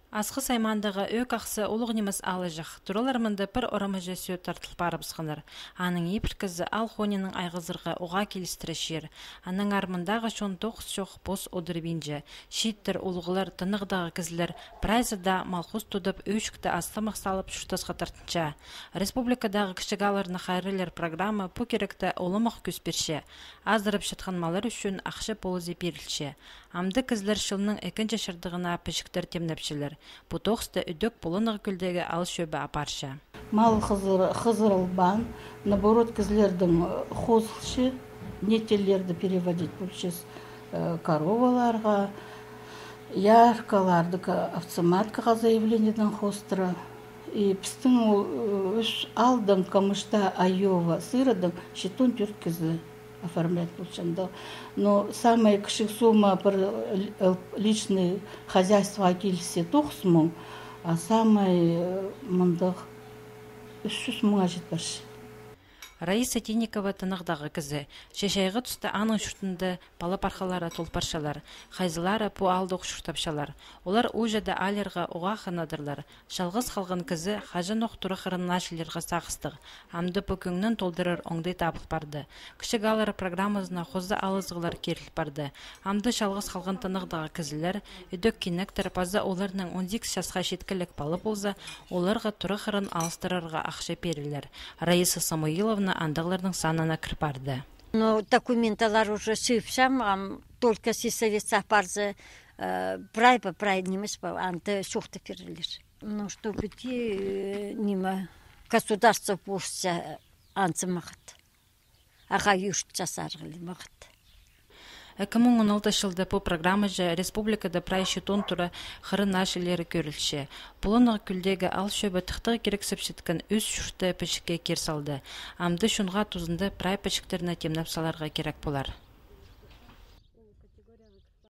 Асқы саймандағы өк ақсы олық немес алы жақ. Тұралармынды бір орамы жәсі тартыл барып сқыныр. Аның епіл кізі ал хонының айғызырға оға келістірі шер. Аның армындағы шон тоқыс шоқ бос одырбинжі. Шиттір олғылар тынығдағы кізілер прайзыда малхуз тұдып өшікті астымық салып шүртасқа тартынша. Республикадағы кішігаларны қайрылер программы бұ керекті олымық көсперше. Аздырып шытқан малар үшін ақшы полызы берілші. Амды кізілер шылының екінші шырдығына пішіктер темнепшілер. Бұ тоқсты үдік бұлынығы күлдегі ал шөбі апаршы. Мал хызырылбан, наоборот, кізілердің хозылшы, нетелерді переводить бүлшіз короваларға, яркаларды автоматкаға заявлениеден хостыра. И пістің үш алдың камышта айова сырыдың шетон түрт кізі оформлять получается. Но самая кішік сумма бір личный хозяйство келсе 9 мың, а самая мұндық 300 мыңға жетпірші. Раиса Тинникова тынығдағы кізі. Шешайғы түсті аның шүртінді бала пархалары толпаршалар. Хайзылары бұ алдық шүртапшалар. Олар ұжады алерға оға қанадырлар. Жалғыз қалған кізі қажын оқтыры қырынна шілерға сақыстық. Амды бүкіңнің толдырыр оңдай табық барды. Кішік алары программазына қозды алызғылар керіл барды. Амды жалғыз қалған тынығдағы кізілер, үдік кенектір пазы оларының 12 жасқа шеткілік балы болса, оларға тұры қырын алыстырырға ақшы берілер. Раиса Самуиловна андағылардың санына кірпарды. Но документалар уже сүйіпсам, только сесовецах барзы прай немес ба, анты шоқты перілер. Ну, что где государство болса анцы мағыт. Аға юшт жасарғылы мағыт. 2016 жылда бұл программа жа республикада прайшы тонтура қырын ашылері көрілші. Бұлынығы күлдегі ал шөбі тұқтығы керексіп шеткен өз шүрті пішікке керсалды. Амды шынға тұзынды прай пішіктеріне темнап саларға керек болар.